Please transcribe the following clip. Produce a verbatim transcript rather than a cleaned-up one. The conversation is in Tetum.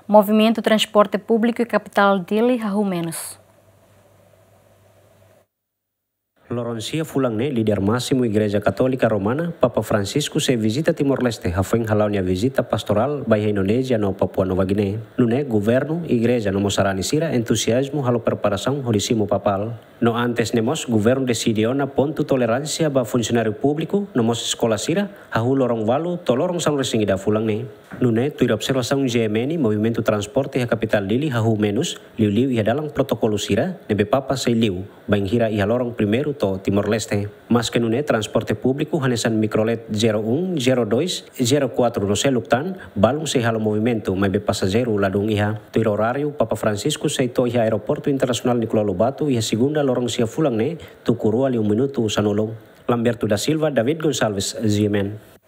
Movimentu transporte públiku iha kapitál Dili hahú menus. Loron sia fulan ne'e, líder másimu Igreja Katólika Romana, Papa Francisco, sei vizita Timor-Leste, hafoin hala'o nia vizita pastorál ba iha Indonézia no Papua Nova Guiné. Nune'e, governu, igreja no mós sarani sira entuziazmu halo preparasaun hodi simu papál. No antes ne'e mós, governu deside ona pontu toleránsia ba funsionáriu públiku no mós eskola sira, hahú loron ualu to'o loron sanulu-resin-ida fulan ne'e. Nune'e, tuir observasaun G M N, movimentu transporte iha kapitál Dili hahú menus, liuliu iha dalan protokolu sira ne'ebé Papa sei liu, bainhira iha loron primeiru to'o Timor-Leste. Maske nune'e, transporte públiku hanesan mikrolet zero um, zero dois, zero quatro no seluk tan, balun sei halo movimentu, maibé pasajeiru ladún iha. Tuir oráriu, Papa Francisco sei to'o iha Aeroportu Internasionál Nicolau Lobato iha segunda loron sia fulan ne'e, tuku rua liu minutu sanulu. Lamberto da Silva, David Gonçalves, G M N.